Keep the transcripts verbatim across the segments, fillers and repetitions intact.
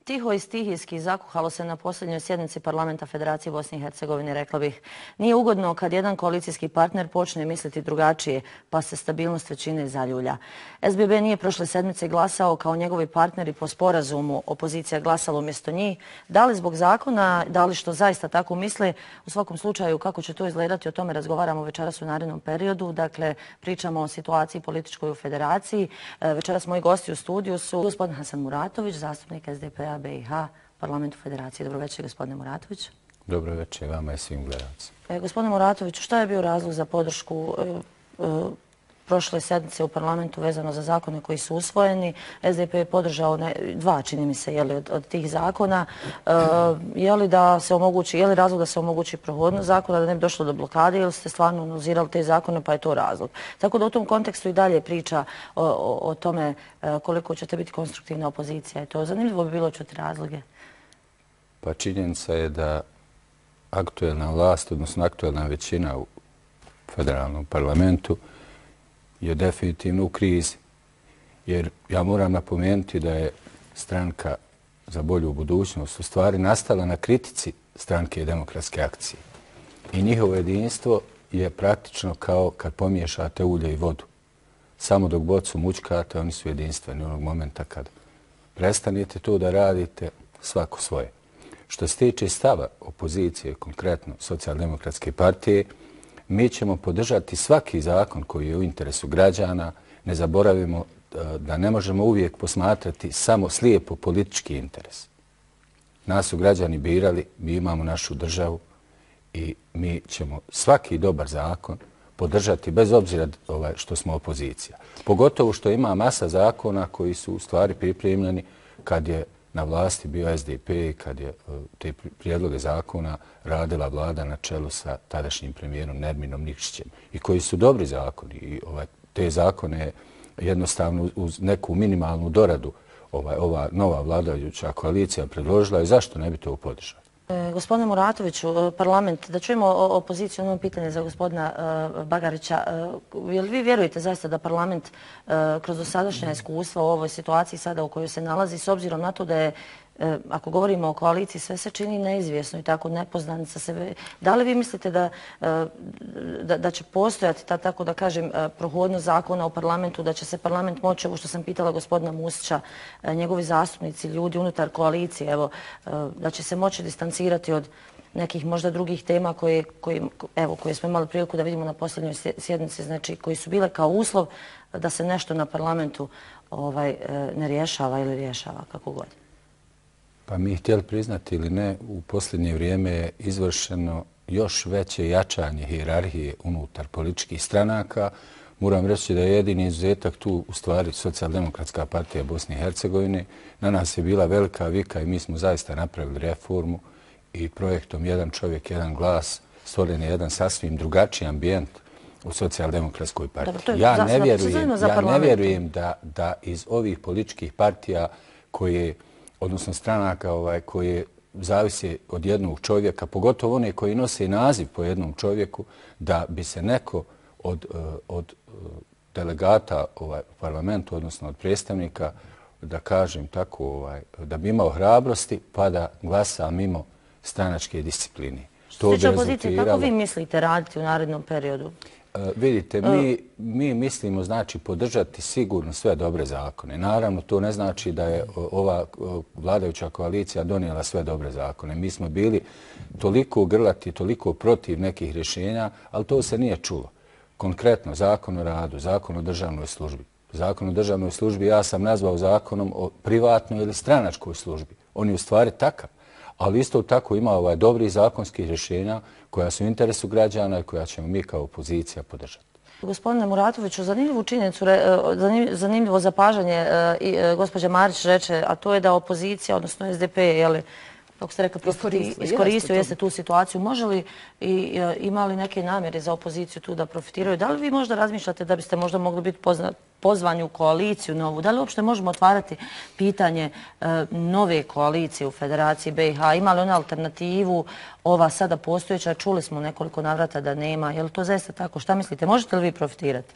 tiho i stihijski zakuhalo se na posljednjoj sjednici Parlamenta Federacije Bosne i Hercegovine, rekla bih. Nije ugodno kad jedan koalicijski partner počne misliti drugačije, pa se stabilnost većine zaljulja. S B B nije prošle sedmice glasao kao njegovi partneri po sporazumu, opozicija glasala umjesto njih. Da li zbog zakona, da li što zaista tako misle, u svakom slučaju kako će to izgledati, o tome razgovaramo večeras u narednom periodu. Dakle, pričamo o situaciji političkoj u Federaciji. Večeras moji gosti u studiju su gospodin Hasan Muratović, zastupnik S D P-a B i H, Parlamentu Federacije. Dobro večer, gospodine Muratović. Dobro večer vama i svim gledalcima. E, gospodine Muratoviću, šta je bio razlog za podršku e, e, prošle sedmice u parlamentu vezano za zakone koji su usvojeni? S D P je podržao ne, dva, čini mi se, jeli, od, od tih zakona. E, je li da se omogući, je li razlog da se omogući prohodnost zakona, da ne bi došlo do blokade, ili ste stvarno analizirali te zakone, pa je to razlog? Tako da u tom kontekstu i dalje priča o, o, o tome e, koliko ćete biti konstruktivna opozicija. I to zanimljivo bi bilo čuti razloge. Pa činjenica je da aktuelna vlast, odnosno aktuelna većina u federalnom parlamentu je definitivno u krizi. Jer ja moram napomenuti da je stranka za bolju budućnost u stvari nastala na kritici stranke Demokratske akcije. I njihovo jedinstvo je praktično kao kad pomiješate ulje i vodu. Samo dok bocu mućkate, oni su jedinstveni onog momenta kad prestanete to da radite, svako svoje. Što se tiče stava opozicije, konkretno Socijaldemokratske partije, mi ćemo podržati svaki zakon koji je u interesu građana. Ne zaboravimo da ne možemo uvijek posmatrati samo slijepo politički interes. Nas su građani birali, mi imamo našu državu i mi ćemo svaki dobar zakon podržati bez obzira što smo opozicija. Pogotovo što ima masa zakona koji su u stvari pripremljeni kad je na vlasti bio S D P i kad je te prijedloge zakona radila vlada na čelu sa tadašnjim premijerom Nerminom Nikšićem i koji su dobri zakoni. I ovaj, te zakone jednostavno uz neku minimalnu doradu ovaj, ova nova vladajuća koalicija predložila i zašto ne bi to podržali? E, gospodine Muratoviću, parlament, da čujemo opoziciju, ono pitanje za gospodina e, Bagarića. E, jel vi vjerujete zaista da parlament e, kroz dosadašnja iskustva u ovoj situaciji sada u kojoj se nalazi, s obzirom na to da je, e, ako govorimo o koaliciji, sve se čini neizvjesno i tako nepoznanica se... Da li vi mislite da, e, da, da će postojati ta, tako da kažem, prohodnost zakona u parlamentu, da će se parlament moći, ovo što sam pitala gospodina Musića, e, njegovi zastupnici, ljudi unutar koalicije, evo, e, da će se moći distancirati od nekih možda drugih tema koje, koje, evo, koje smo imali priliku da vidimo na posljednjoj sjednici, znači koji su bile kao uslov da se nešto na parlamentu ovaj, ne rješava ili rješava, kako god. Pa mi htjeli priznati ili ne, u posljednje vrijeme je izvršeno još veće jačanje hijerarhije unutar političkih stranaka. Moram reći da je jedini izuzetak tu u stvari Socijaldemokratska partija Bosne i Hercegovine. Na nas je bila velika vika i mi smo zaista napravili reformu i projektom Jedan čovjek, jedan glas stvoren je jedan sasvim drugačiji ambijent u Socijaldemokratskoj partiji. Ja ne vjerujem, ja ne vjerujem da, da iz ovih političkih partija koje, odnosno stranaka ovaj, koje zavise od jednog čovjeka, pogotovo one koji nose naziv po jednom čovjeku, da bi se neko od, od delegata ovaj, u parlamentu, odnosno od predstavnika, da kažem tako, ovaj, da bi imao hrabrosti pa da glasa mimo stranačke discipline. Što se tiče opozicije, kako vi mislite raditi u narednom periodu? Uh, vidite, mi, mi mislimo znači podržati sigurno sve dobre zakone. Naravno, to ne znači da je ova vladajuća koalicija donijela sve dobre zakone. Mi smo bili toliko grlati, toliko protiv nekih rješenja, ali to se nije čulo. Konkretno, zakon o radu, zakon o državnoj službi. Zakon o državnoj službi ja sam nazvao zakonom o privatnoj ili stranačkoj službi. On je u stvari takav. Ali isto tako ima ovaj dobrih zakonskih rješenja koja su u interesu građana i koja ćemo mi kao opozicija podržati. Gospodine Muratoviću, zanimljivu činjenicu, zanimljivo zapažanje i gospođa Marić reče, a to je da opozicija, odnosno S D P, jeli, kako ste rekli, iskoristio jeste tu situaciju. Može li i ima li neke namjere za opoziciju tu da profitiraju? Da li vi možda razmišljate da biste možda mogli biti pozvani u koaliciju novu? Da li uopšte možemo otvarati pitanje nove koalicije u Federaciji B i H? Ima li ona alternativu, ova sada postojeća? Čuli smo nekoliko navrata da nema. Je li to zaista tako? Šta mislite? Možete li vi profitirati?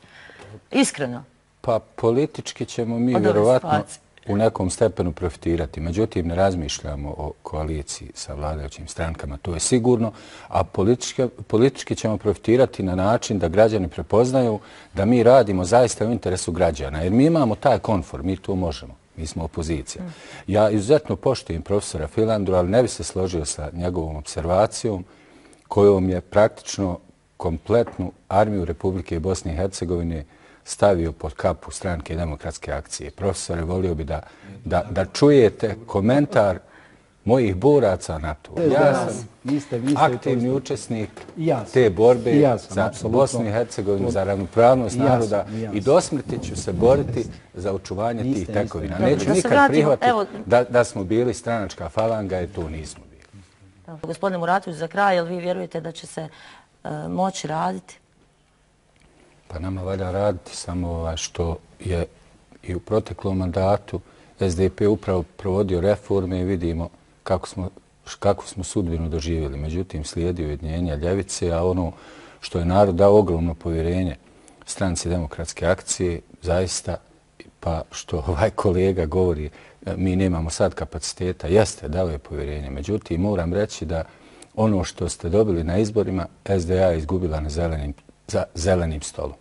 Iskreno. Pa politički ćemo mi vjerovatno... u nekom stepenu profitirati. Međutim, ne razmišljamo o koaliciji sa vladajućim strankama, to je sigurno, a politički, politički ćemo profitirati na način da građani prepoznaju da mi radimo zaista u interesu građana, jer mi imamo taj konfor, mi to možemo. Mi smo opozicija. Ja izuzetno poštujem profesora Filandru, ali ne bi se složio sa njegovom observacijom kojom je praktično kompletnu armiju Republike Bosne i Hercegovine stavio pod kapu Stranke demokratske akcije. Profesore, volio bi da, da, da čujete komentar mojih boraca na to. Ja sam niste, niste aktivni učesnik te borbe ja sam, za apsolutno. Bosnu i Hercegovinu, za ravnopravnost ja naroda sam, ja i do smrti ću se boriti za očuvanje niste, tih niste. tekovina. Dobro, Neću da se nikad vratimo, prihvatiti evo- da, da smo bili stranačka falanga, jer to nismo bili. Gospodine Muratović, za kraj, jel vi vjerujete da će se e, moći raditi? Pa nama valja raditi samo ovaj što je i u proteklom mandatu S D P upravo provodio reforme i vidimo kako smo, kako smo sudbinu doživjeli. Međutim, slijedi ujedinjenje ljevice, a ono što je narod dao ogromno povjerenje Stranci demokratske akcije, zaista, pa što ovaj kolega govori, mi nemamo sad kapaciteta, jeste, dao je povjerenje. Međutim, moram reći da ono što ste dobili na izborima, S D A je izgubila na zelenim, za zelenim stolom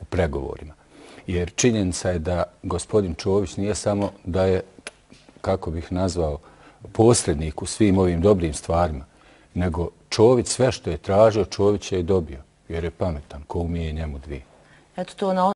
u pregovorima. Jer činjenica je da gospodin Čović nije samo da je, kako bih nazvao, posrednik u svim ovim dobrim stvarima, nego Čović sve što je tražio, Čović je i dobio, jer je pametan, ko umije njemu dvije. Eto to na